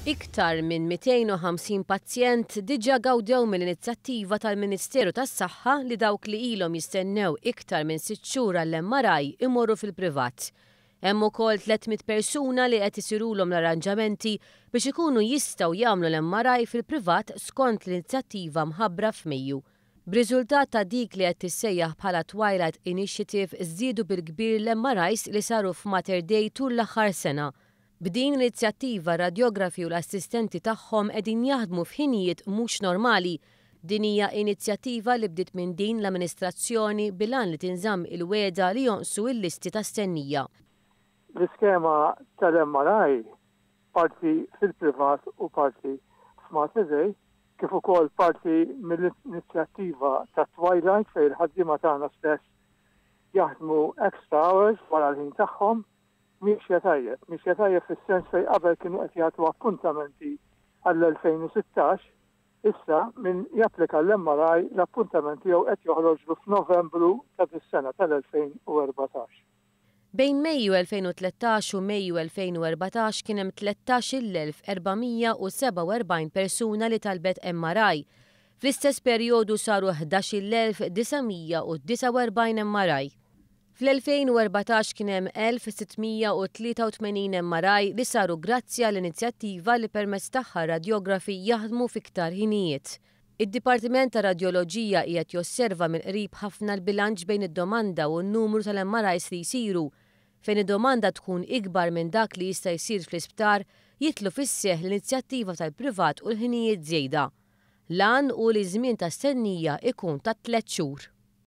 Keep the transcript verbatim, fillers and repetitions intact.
Iktar minn mitejn u ħamsin pazjent diġà gawdew mill-inizjattiva tal-Ministeru tas-Saħħa li dawk li ilhom jistennew iktar minn sitt xhur għall-M R I imorru fil-privat. Hemm ukoll tliet mitt persuna li qed isirulhom l-arranġamenti biex ikunu jistgħu jagħmlu l-M R I fil-privat skont l-inizjattiva mħabbra f'Mejju. B'riżultat ta' dik li qed tissejjaħ bħala Twilight Initiative, żdiedu bil-kbir l-M R Is li saru f'Mater Dei tul l-aħħar sena. B'din l-inizjattiva, radjografi u l-assistenti tagħhom qegħdin jaħdmu f'ħinijiet mhux normali. Din hija inizjattiva li bdiet minn din l-amministrazzjoni bil-għan li tinżamm il-wegħda li jonqsu il-listi ta' stennija. L-iskema tal-M R I, parti fil-privat u parti f'Mater Dei, kif ukoll parti mill-inizjattiva ta' Twilight, fejn il-ħaddiema tagħna stess jaħdmu extra hours wara l-ħin tagħhom, miexja tajjeb. Miexja tajjeb fis-sens fejn qabel kienu qed jagħtu appuntamenti għall-elfejn u sittax, issa min japplika l-M R I, l-appuntament tiegħu qed joħroġlu f'Novembru ta' dis-sena tal-elfejn u erbatax. Bejn Mejju elfejn u tlettax u Mejju elfejn u erbatax kien hemm tlettax-il elf erba' mija u sebgħa u erbgħin persuna li talbet M R I. Fl-istess perjodu saru ħdax-il elf disa' mija u disgħa u erbgħin M R I. Fl-elfejn u erbatax kien hemm elf sitt mija u tlieta u tmenin M R I li saru grazzi għall-inizjattiva li permezz tagħha radjografi jaħdmu fiktar ħinijiet. Id-Dipartiment ta' Radjoloġija qiegħed josserva mill-qrib ħafna l-bilanċ bejn id-domanda u n-numru tal-M R Is li jsiru. Fejn id-domanda tkun ikbar minn dak li jista' jsir fl-isptar, jidħlu fis-seħħ l-inizjattiva tal-privat u l-ħinijiet żejda. L-għan hu li żmien ta' stennija ikun ta' tliet xhur.